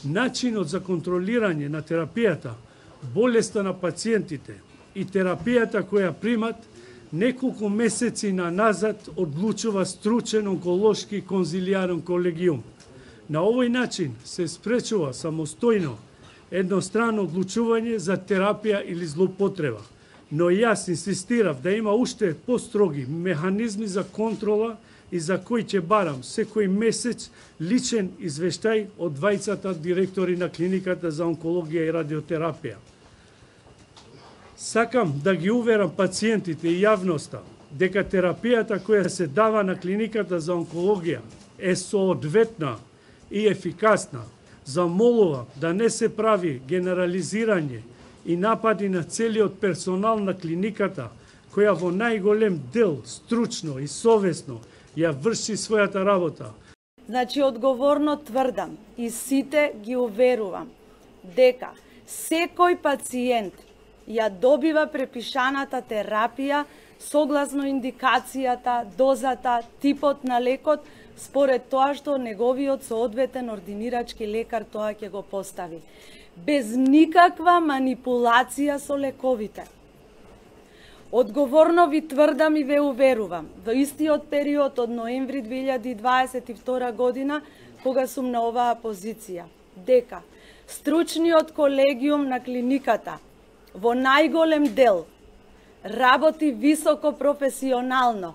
Начинот за контролирање на терапијата, болеста на пациентите и терапијата која примат неколку месеци назад одлучува стручен онколошки конзилијарен колегиум. На овој начин се спречува самостојно едностранно одлучување за терапија или злоупотреба. Но јас инсистирав да има уште построги механизми за контрола и за кој ќе барам секој месец личен извештај од двајцата директори на клиниката за онкологија и радиотерапија. Сакам да ги уверам пациентите и јавноста дека терапијата која се дава на клиниката за онкологија е соодветна и ефикасна. Замолувам да не се прави генерализирање и напади на целиот персонал на клиниката, која во најголем дел стручно и совесно ја врши својата работа. Значи, одговорно тврдам и сите ги уверувам дека секој пациент ја добива препишаната терапија согласно индикацијата, дозата, типот на лекот, според тоа што неговиот соодветен ординирачки лекар тоа ќе го постави. Без никаква манипулација со лековите. Одговорно ви тврдам и ве уверувам, во истиот период од ноември 2022 година, кога сум на оваа позиција, дека стручниот колегиум на клиниката во најголем дел работи високо професионално,